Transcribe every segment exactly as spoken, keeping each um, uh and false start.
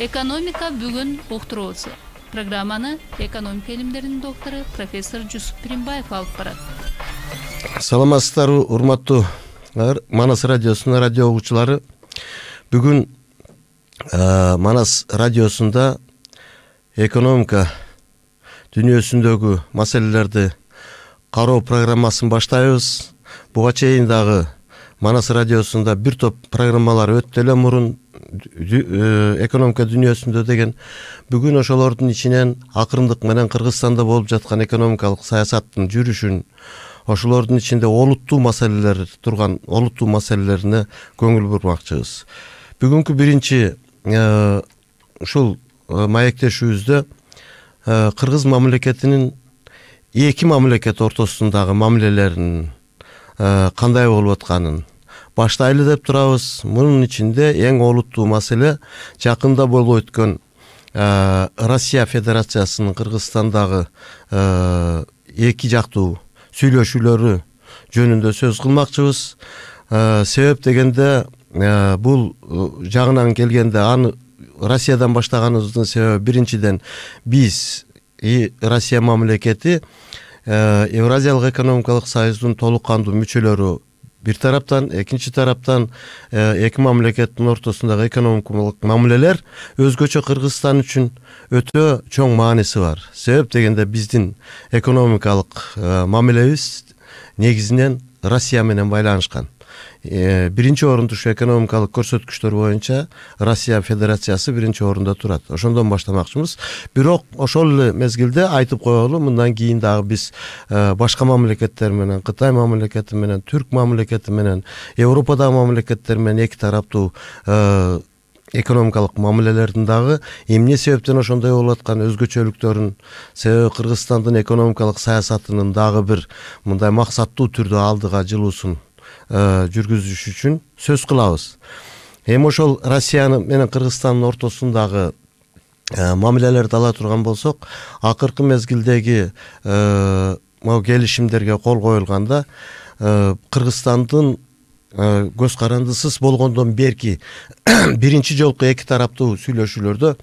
Экономика бүгүн уктуруусу. Программаны экономика илимдеринин доктору профессор Жусуп Пиринбаев алып барат. Саламатсыздарбы, урматтуу Манас радиосунун радио угуучулары. Бүгүн Манас радиосунда экономика дүйнөсүндөгү маселелерди кароо программасын баштайбыз. Буга чейин дагы Манас радиосунда бир топ программалар өттү эле мурун экономика дүйнөсүндө деген. Бүгүн ошолордун ичинен акырындык менен Кыргызстанда болуп жаткан экономикалык саясаттын жүрүшүн, ошолордун ичинде олуттуу маселелер турган олуттуу маселелерине көңүл бурмакчыбыз. Бүгүнкү биринчи ушул маектешүүбүздө Кыргыз мамлекетинин эки мамлекет ортосундагы мамилелеринин кандай болуп атканын баштайлы деп турабыз. Мунун ичинде эң олуттуу маселе жакында болуп өткөн Россия Федерациясынын Кыргызстандагы эки жактуу сүйлөшүүлөрү жөнүндө сөз кылмакчыбыз. Себеп дегенде бул жагынан келгенде аны Россиядан баштаганыбыздын себеби биринчиден биз Россия мамлекети Евразиялык экономикалык союздун толук кандуу мүчөлөрү бир тараптан, экинчи тараптан эки мамлекеттин ортосундагы экономикалык мамилелер өзгөчө Кыргызстан үчүн өтө чоң мааниси бар. Себеп дегенде биздин экономикалык мамилебиз негизинен Россия менен байланышкан. Биринчи орунда ушу экономикалык көрсөткүчтөр боюнча Россия Федерациясы биринчи орунда турат. Ошондон баштамакчыбыз. Бирок ошол эле мезгилде айтып коелу, мындан кийин дагы биз башка мамлекеттер менен, Кытай мамлекети менен, Түрк мамлекети менен, Европадагы мамлекеттер менен эки тараптуу экономикалык мамилелердин дагы эмне себептен ошондой болуп аткан өзгөчөлүктөрүн, себеби Кыргызстандын экономикалык саясатынын дагы бир мындай максаттуу түрдө алдыга жылуусун жүргүзүш үчүн сөз кылабыз. Эми ошол Россия менен Кыргызстандын ортосундагы мамилелерди ала турган болсок, акыркы мезгилдеги могу келишимдерге кол коюлганда Кыргызстандын көз карандысыз болгондон берки биринчи жолку эки тараптуу сүйлөшүүлөрдө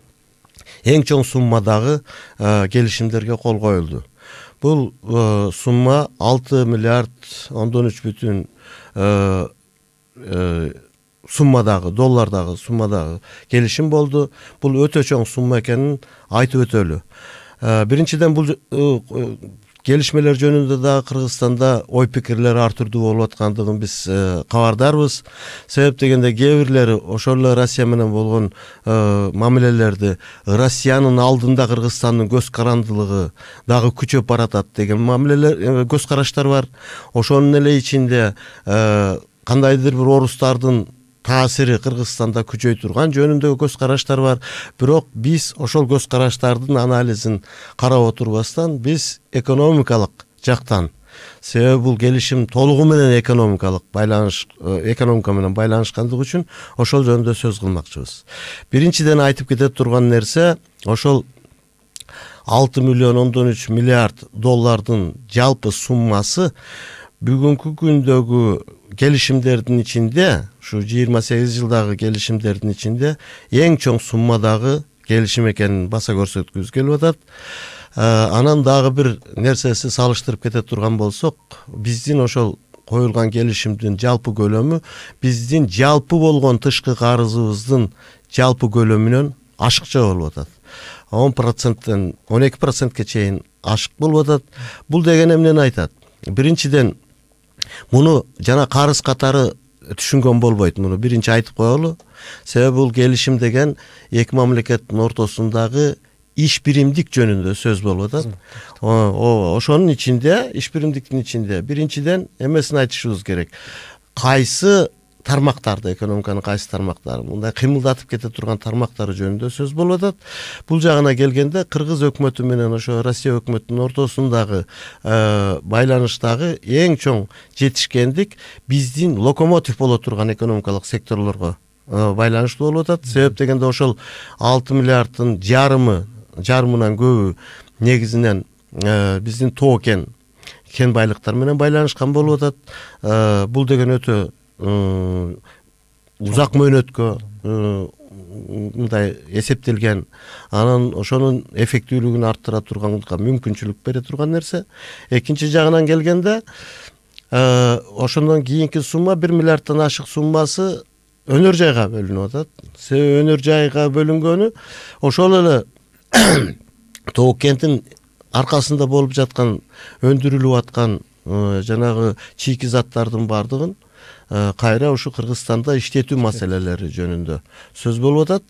эң чоң суммадагы келишимдерге кол коюлду. Бул сумма алты миллиард ондон үч бүтүн суммадагы, доллардагы суммадагы келишим болду. Бул өтө чоң сумма экенин айтып өтөлү. Биринчиден бул келишмелер жөнүндө дагы Кыргызстанда ой пикирлер ар түрдүү болуп аткандыгын биз кабардарбыз. Себеп дегенде кээ бирлери ошол эле Россия менен болгон мамилелерди Россиянын алдында Кыргызстандын көз карандылыгы дагы күчөп баратат деген мамилелер, көз караштар бар. Ошонун эле ичинде кандайдыр бир орустардын таасири Кыргызстанда күчөй турган жөнүндөгү көз караштар бар. Бирок биз ошол көз караштардын анализин карап отурбастан биз экономикалык жактан, себеби бул келишим толугу менен экономикалык байланыш, экономика менен байланышкандыгы үчүн ошол жөнүндө сөз кылмакчыбыз. Биринчиден айтып кете турган нерсе, ошол алты миллион ондон үч миллиард доллардын жалпы суммасы бүгүнкү күндөгү келишимдердин ичинде, ушу жыйырма сегиз жылдагы келишимдердин ичинде эң чоң суммадагы келишим экенин баса көрсөткүбүз келип атат. Анан дагы бир нерсеси салыштырып кете турган болсок, биздин ошол коюлган келишимдин жалпы көлөмү биздин жалпы болгон тышкы карызыбыздын жалпы көлөмүнөн ашыкча болуп атат. он проценттен он эки процентке чейин ашык болуп атат. Бул деген эмнени айтат? Биринчиден муну жана карыз катары түшүнгөн болбойт. Муну биринчи айтып коелу. Себеби бул келишим деген эки мамлекеттин ортосундагы иш биримдик жөнүндө сөз болуп атат. Ошонун ичинде, иш биримдиктин ичинде биринчиден эмесин айтышыбыз керек. Кайсы тармактарды, экономиканын кайсы тармактары, мындай кыймылдатып кете турган тармактары жөнүндө сөз болуп атат. Бул жагына келгенде Кыргыз өкмөтү менен ошо Россия өкмөтүнүн ортосундагы байланыштагы эң чоң жетишкендик биздин локомотив боло турган экономикалык секторлорго байланыштуу болуп атат. Себеп дегенде ошол алты миллиарддын жарымы, жарымынан көбү негизинен биздин тоо кен, кен байлыктар менен байланышкан болуп атат. Бул деген өтө узак мөөнөткө мындай эсептелген, анан ошонун эффектүүлүгүн арттыра турганга мүмкүнчүлүк бере турган нерсе. Экинчи жагынан келгенде ошондон кийинки сумма бир миллиарддан ашык суммасы өнөр жайга бөлүнүп атат. Себеби өнөр жайга бөлүнгөнү ошол эле Тоок кенттин аркасында болуп жаткан өндүрүлүп аткан жанагы чийки заттардын бардыгын кайра ушу Кыргызстанда иштетүү маселелери жөнүндө сөз болуп атат.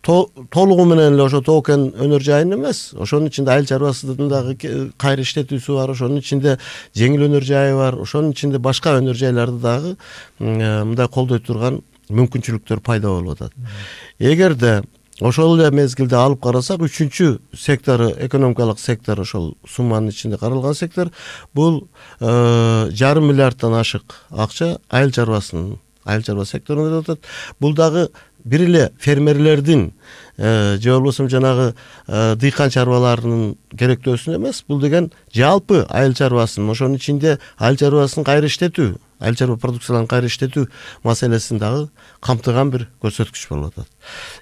Толугу менен эле ошо Тоок кен өнөр жайын эмес, ошонун ичинде айыл чарбасынын дагы кайра иштетүүсү бар, ошонун ичинде жеңил өнөр жайы бар, ошонун ичинде башка өнөр жайларды дагы мындай колдой турган мүмкүнчүлүктөр пайда болуп атат. Эгерде ошол эле мезгилде алып карасак, үчүнчү сектору, экономикалык сектор, ошол сумманын ичинде каралган сектор, бул жарым миллиарддан ашык акча айыл чарбасынын, айыл чарба секторунда деп атат. Бул дагы бир эле фермерлердин же болбосо жанагы дыйкан чарбаларынын керектөөсүн эмес, бул деген жалпы айыл чарбасын, ошонун ичинде айыл чарбасын кайра иштетүү, айыл чарба продукцияларын кайра иштетүү маселесин дагы камтыган бир көрсөткүч болуп атат.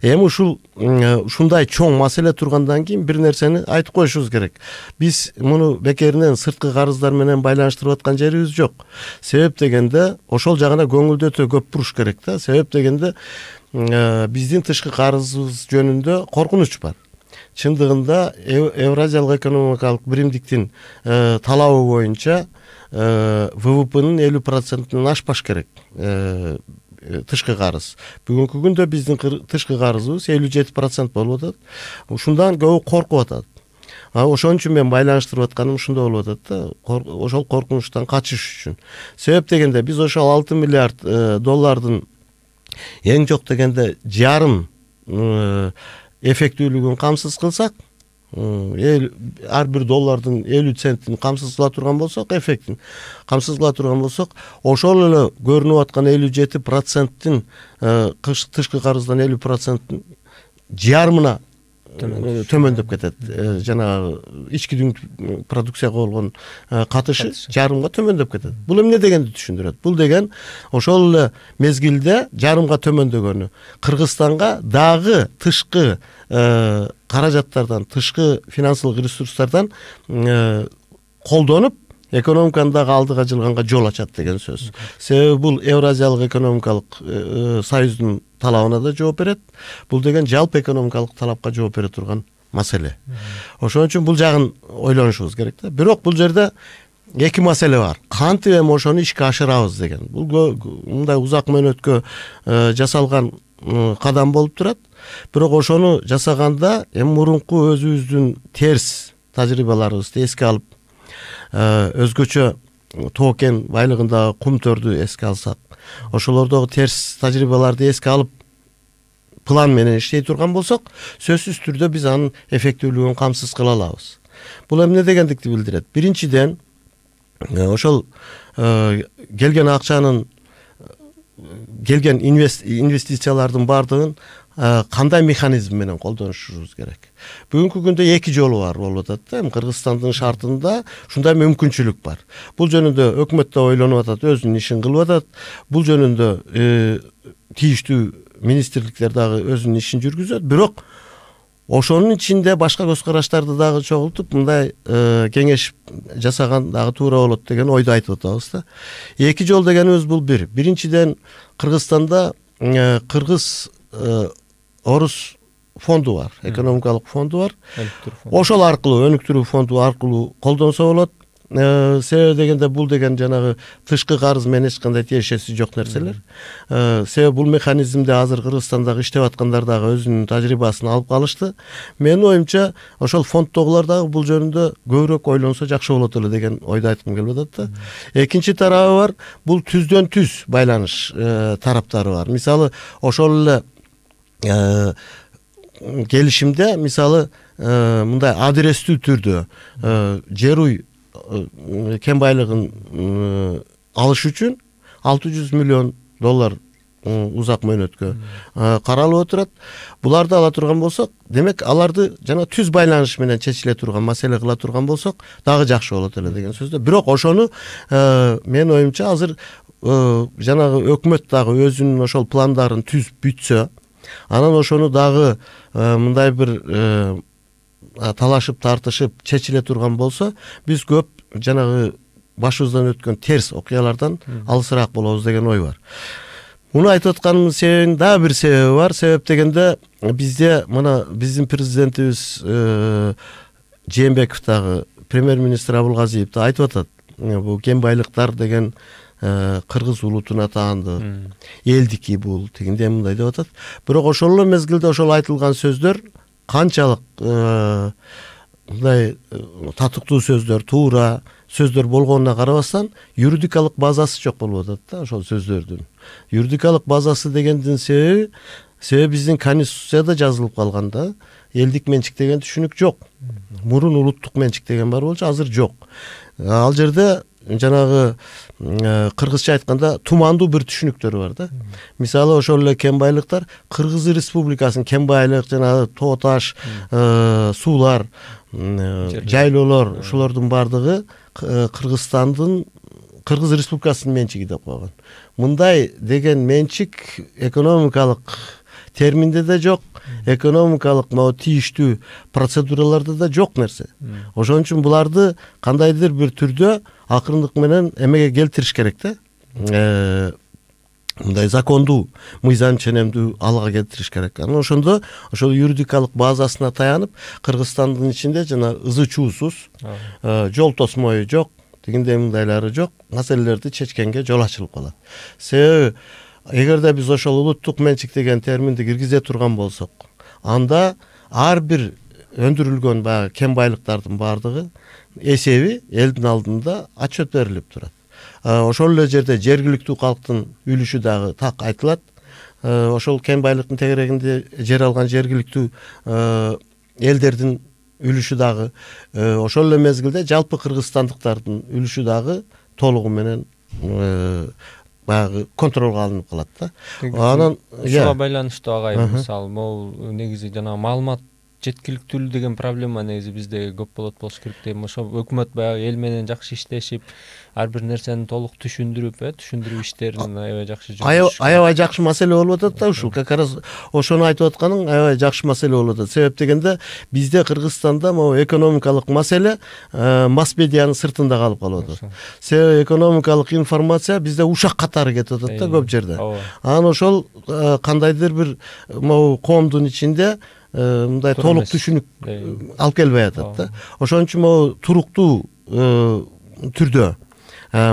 Эми ушул ушундай чоң маселе тургандан кийин бир нерсени айтып коюшубуз керек. Биз муну бекеринен сырткы карыздар менен байланыштырып аткан жерибиз жок. Себеп дегенде ошол жагына көңүлдү өтө көп буруш керек да. Себеп дегенде биздин тышкы карызыбыз жөнүндө коркунуч бар. Чындыгында Евразиялык экономикалык биримдиктин талабы боюнча ВВПнын элүү процентинен ашпаш керек тышкы карыз. Бүгүнкү күндө биздин тышкы карызыбыз элүү жети процент болуп атат. Ушундан көбү коркуп атат. Ошон үчүн мен байланыштырып атканым ушундай болуп атат да, ошол коркунучтан качыш үчүн. Себеп дегенде биз ошол алты миллиард доллардын эң жок дегенде жарым эффектүүлүгүн камсыз кылсак, ар бир доллардын элүү центин камсыз кыла турган болсок, эффектин камсыз кыла турган болсок, ошол эле көрүнүп аткан элүү жети проценттин тышкы карыздан элүү проценттин жарымына төмөндөп кетет. Жанагы ички дүң продукцияга болгон катышы жарымга төмөндөп кетет. Бул эмне дегенди түшүндүрөт? Бул деген ошол эле мезгилде жарымга төмөндөгөнү Кыргызстанга дагы тышкы каражаттардан, тышкы финансылык ресурстардан колдонуп экономиканы дагы алдыга жылганга жол ачат деген сөз. Себеби бул Евразиялык экономикалык союздун талабына да жооп берет. Бул деген жалпы экономикалык талапка жооп бере турган маселе. Ошон үчүн бул жагын ойлонушубуз керек да. Бирок бул жерде эки маселе бар. Кантип эми ошону ишке ашырабыз деген. Бул мындай узак мөөнөткө жасалган кадам болуп турат. Бирок ошону жасаганда эми мурунку өзүбүздүн терс тажрыйбаларыбызды эске алып, өзгөчө Тоок кен байлыгындагы кумтөрдү эске алсак, ошолордогу терс тажрыйбаларды эске алып план менен иштей турган болсок, сөзсүз түрдө биз анын эффектүүлүгүн камсыз кыла алабыз. Бул эмне дегендикти билдирет? Биринчиден, ошол келген акчанын, келген инвестициялардын бардыгын кандай механизм менен колдонушубуз керек. Бүгүнкү күндө эки жолу бар болуп атат да. Кыргызстандын шартында ушундай мүмкүнчүлүк бар. Бул жөнүндө өкмөт да ойлонуп атат, өзүнүн ишин кылып атат. Бул жөнүндө тийиштүү министрликтер дагы өзүнүн ишин жүргүзөт. Бирок ошонун ичинде башка көз караштарды дагы чогултуп, мындай кеңеш жасаган дагы туура болот деген ойду айтып атабыз да. Эки жол дегенибиз бул бир. Биринчиден, Кыргызстанда Кыргыз Орус фонду бар, экономикалык фонду бар. Ошол аркылуу, өнүктүрүү фонду аркылуу колдонсо болот. Себеби дегенде бул деген жанагы тышкы карыз менен эч кандай тиешеси жок нерселер. Себеби бул механизмде азыр Кыргызстандагы иштеп аткандар дагы өзүнүн тажрыйбасын алып калышты. Менин оюмча, ошол фонддогулар дагы бул жөнүндө көбүрөөк ойлонсо жакшы болот эле деген ойду айткым келип атат да. Экинчи тарабы бар, бул түздөн түз байланыш тараптары бар. Мисалы, ошол эле келишимде, мисалы, мындай адрестүү түрдө жер уй кен байлыгын алыш үчүн алты жүз миллион доллар узак мөөнөткө каралып отурат. Буларды ала турган болсок, демек аларды жана түз байланыш менен чечиле турган маселе кыла турган болсок, дагы жакшы болот эле деген сөздө. Бирок ошону менин оюмча азыр жанагы өкмөт дагы өзүнүн ошол пландарын түзүп бүтсө, Анан ошону дагы мындай бир талашып тартышып чечиле турган болсо, биз көп жанагы башыбыздан өткөн терс окуялардан алысыраак болобуз деген ой бар. Муну айтып атканымдын себебинин дагы бир себеби бар. Себеп дегенде бизде мына биздин президентибиз Жээнбеков дагы, премьер-министр Абылгазиев да айтып атат. Бул кен байлыктар деген кыргыз улутуна таанды, элдики бул, тигиндей мындай деп атат. Бирок ошол эле мезгилде ошол айтылган сөздөр канчалык мындай татыктуу сөздөр, туура сөздөр болгонуна карабастан, юридикалык базасы жок болуп атат да ошол сөздөрдүн. Юридикалык базасы дегендин себеби, себеби биздин Конституцияда жазылып калган да, элдик менчик деген түшүнүк жок. Мурун улуттук менчик деген бар болчу, азыр жок. Ал жерде жанагы кыргызча айтканда тумандуу бир түшүнүктөр бар да. Мисалы ошол эле кен байлыктар Кыргыз Республикасынын кен байлык, жанагы тоо таш, суулар, жайлоолор, ушулордун бардыгы Кыргызстандын, Кыргыз Республикасынын менчиги деп койгон. Мындай деген менчик экономикалык терминде да жок, экономикалык могу тийиштүү процедураларда да жок нерсе. Ошон үчүн буларды кандайдыр бир түрдө акырындык менен эмеге келтириш керек да. Мындай закондуу, мыйзам ченемдүү алга келтириш керек. Анан ошондо ошол юридикалык базасына таянып, Кыргызстандын ичинде жана ызы чуусуз, жол тосмою жок, тигиндей мындайлары жок маселелерди чечкенге жол ачылып калат. Себеби эгерде биз ошол улуттук менчик деген терминди киргизе турган болсок, анда ар бир өндүрүлгөн баягы кен байлыктардын бардыгы эсеби элдин алдында отчет берилип турат. Ошол эле жерде жергиликтүү калктын үлүшү дагы так айтылат. Ошол кен байлыктын тегерегинде жер алган жергиликтүү элдердин үлүшү дагы, ошол эле мезгилде жалпы кыргызстандыктардын үлүшү дагы толугу менен баягы контролго алынып калат да. Анан ушуга байланыштуу агайын, мисалы, могу негизи жанагы маалымат жеткиликтүүлүк деген проблема негизи бизде көп болот болуш керек дейм. Ошо өкмөт баягы эл менен жакшы иштешип, ар бир нерсени толук түшүндүрүп, э, түшүндүрүү иштерин аябай жакшы жүргүзүш. Аябай жакшы маселе болуп атат да ушул. Как раз ошону айтып атканың аябай жакшы маселе болуп атат. Себеп дегенде бизде Кыргызстанда могу экономикалык маселе масс медианын сыртында калып калып атат. Себеби экономикалык информация бизде ушак катары кетип атат да көп жерде. Анан ошол кандайдыр бир могу коомдун ичинде мындай толук түшүнүк алып келбей атат да. Ошон үчүн могу туруктуу түрдө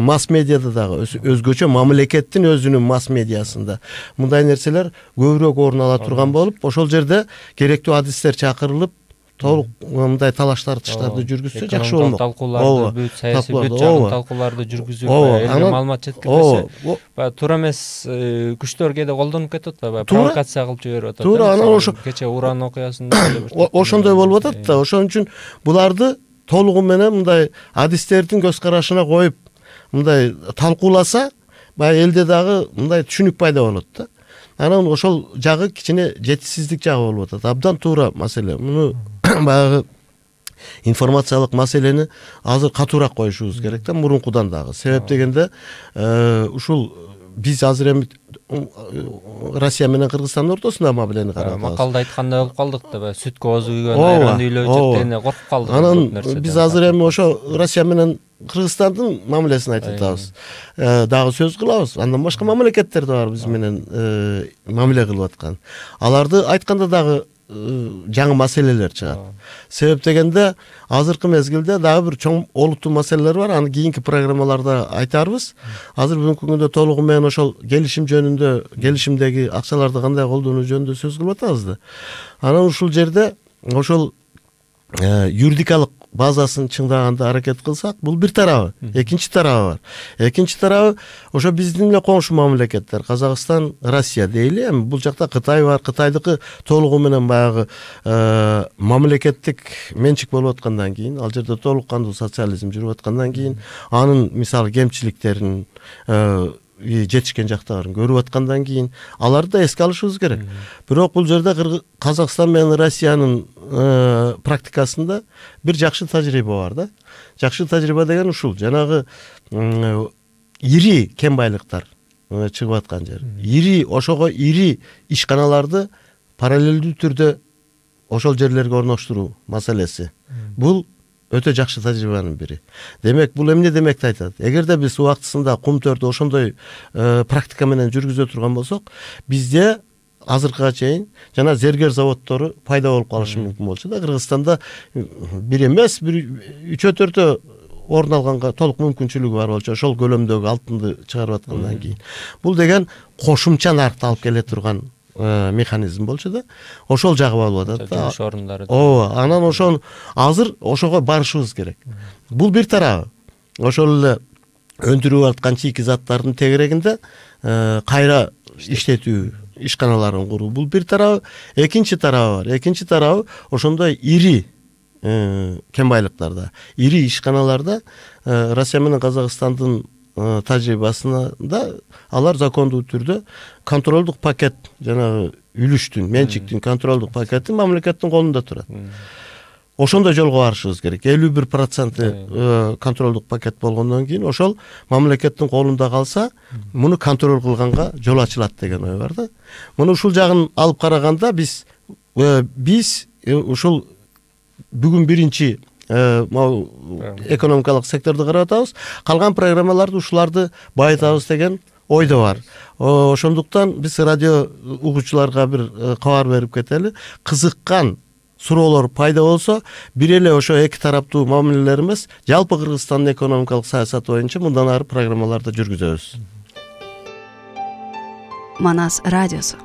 масс медиада дагы өзгөчө мамлекеттин өзүнүн масс медиасында мындай нерселер көбүрөөк орун ала турган болуп, ошол жерде керектүү адистер чакырылып, толук мындай талаш тартыштарды жүргүзсө жакшы болмок. Талкууларды, бүт саясий бүт жагын талкууларды жүргүзүп, элге маалымат жеткирсе, баягы туура эмес күчтөр кээде колдонуп кетип атат, баягы провокация кылып жиберип атат. Туура, анан ошо кече Уран окуясында ошондой болуп атат да. Ошон үчүн буларды толугу менен мындай адистердин көз карашына коюп, мындай талкууласа, баягы элде дагы мындай түшүнүк пайда болот да. Анан ошол жагы кичине жетишсиздик жагы болуп атат. Абдан туура маселе. Муну баягы информациялык маселени азыр катуураак коюшубуз керек да, мурункудан дагы. Себеп дегенде ушул биз азыр эми Россия менен Кыргызстандын ортосунда мамилени карап атабыз. Макалда айткандай болуп калдык да, баягы сүткө оозу күйгөн айран үйлөө дегенде коркуп калдык. Анан биз азыр эми ошо Россия менен Кыргызстандын мамилесин айтып атабыз. Дагы сөз кылабыз. Андан башка мамлекеттер да бар биз менен мамиле кылып аткан. Аларды айтканда дагы жаңы маселелер чыгат. Себеп дегенде азыркы мезгилде дагы бир чоң олуттуу маселелер бар. Аны кийинки программаларда айтарбыз. Азыр бүгүнкү күндө толугу менен ошол келишим жөнүндө, келишимдеги акчаларды кандай колдонуу жөнүндө сөз кылып атабыз да. Анан ушул жерде ошол юридикалык базасын чыңдаганда аракет кылсак, бул бир тарабы. Экинчи тарабы бар. Экинчи тарабы ошо биздин эле коңшу мамлекеттер, Казакстан, Россия дейли. Эми бул жакта Кытай бар. Кытайдыкы толугу менен баягы мамлекеттик менчик болуп аткандан кийин, ал жерде толук кандуу социализм жүрүп аткандан кийин, анын мисалы кемчиликтерин жетишкен жактарын көрүп аткандан кийин аларды да эске алышыбыз керек. Бирок бул жерде Казакстан менен Россиянын практикасында бир жакшы тажрыйба бар да. Жакшы тажрыйба деген ушул, жанагы ири кен байлыктар чыгып аткан жер. Ири ошого ири ишканаларды параллелдүү түрдө ошол жерлерге орноштуруу маселеси бул өтө жакшы тажрыйбанын бири. Демек бул эмне демекти айтат? Эгерде биз убактысында кум төрдү ошондой практика менен жүргүзө турган болсок, бизде азыркыга чейин жана зергер заводдору пайда болуп калышы мүмкүн болчу да. Кыргызстанда бир эмес, бир үчөө төртөө орун алганга толук мүмкүнчүлүгү бар болчу, ошол көлөмдөгү алтынды чыгарып аткандан кийин. Бул деген кошумча наркты алып келе турган механизм болчу да. Ошол жагы болуп атат да. Жумуш орундары. Ооба, анан ошон азыр ошого барышыбыз керек. Бул бир тарабы. Ошол эле өндүрүп аткан чийки заттардын тегерегинде кайра иштетүү ишканаларын куруу. Бул бир тарабы. Экинчи тарабы бар. Экинчи тарабы ошондой ири кен байлыктарда, ири ишканаларда Россия менен Казакстандын тажрыйбасында алар закондуу түрдө контролдук пакет, жанагы үлүштүн, менчиктин контролдук пакети мамлекеттин колунда турат. Ошондой жолго барышыбыз керек. элүү бир проценти контролдук пакет болгондон кийин ошол мамлекеттин колунда калса, муну контроль кылганга жол ачылат деген ой бар да. Муну ушул жагын алып караганда биз биз ушул бүгүн биринчи экономикалык секторду карап атабыз. Калган программаларды ушуларды байытабыз деген ойдо бар. Ошондуктан биз радио угуучуларга бир кабар берип кетели. Кызыккан суроолор пайда болсо, бир эле ошо эки тараптуу мамилелер эмес, жалпы Кыргызстандын экономикалык саясаты боюнча мындан ары программаларды жүргүзөбүз. Манас радиосу.